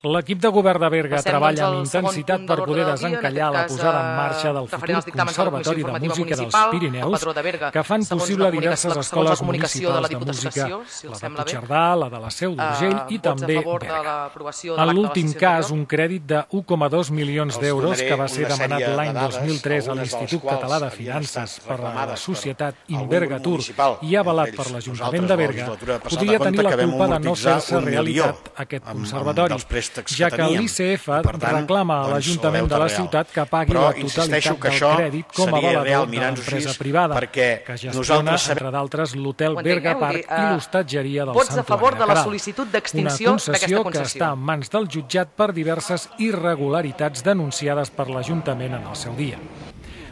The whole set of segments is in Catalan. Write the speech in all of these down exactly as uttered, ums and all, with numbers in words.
L'equip de govern de Berga treballa amb intensitat per poder desencallar la posada en marxa del futur Conservatori de Música dels Pirineus, que fan possible diverses escoles municipals de música, la de Puigcerdà, la de la Seu d'Urgell i també Berga. En l'últim cas, un crèdit de u coma dos milions d'euros que va ser demanat l'any dos mil tres a l'Institut Català de Finances per la societat Invergatur i avalat per l'Ajuntament de Berga, podria tenir la culpa de no fer-se realitat aquest conservatori, ja que l'I C F reclama a l'Ajuntament de la ciutat que pagui la totalitat del crèdit com a avalador de l'empresa privada, que gestiona, entre d'altres, l'hotel Berga Park i l'hostatgeria del Santuari de Queralt. Una concessió que està en mans del jutjat per diverses irregularitats denunciades per l'Ajuntament en el seu dia.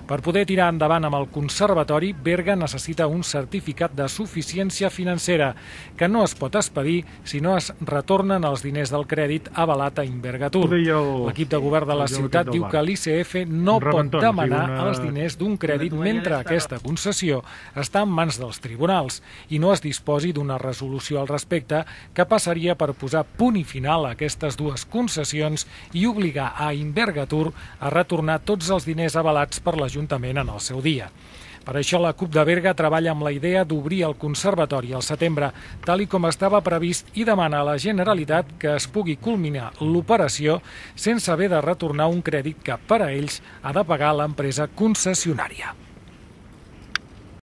Per poder tirar endavant amb el conservatori, Berga necessita un certificat de suficiència financera, que no es pot expedir si no es retornen els diners del crèdit avalat a Invergatur. L'equip de govern de la ciutat diu que l'I C F no pot demanar els diners d'un crèdit mentre aquesta concessió està en mans dels tribunals i no es disposi d'una resolució al respecte que passaria per posar punt i final a aquestes dues concessions i obligar a Invergatur a retornar tots els diners avalats per l'Ajuntament Ajuntament en el seu dia. Per això la CUP de Berga treballa amb la idea d'obrir el conservatori al setembre, tal i com estava previst, i demana a la Generalitat que es pugui culminar l'operació sense haver de retornar un crèdit que per a ells ha de pagar l'empresa concessionària.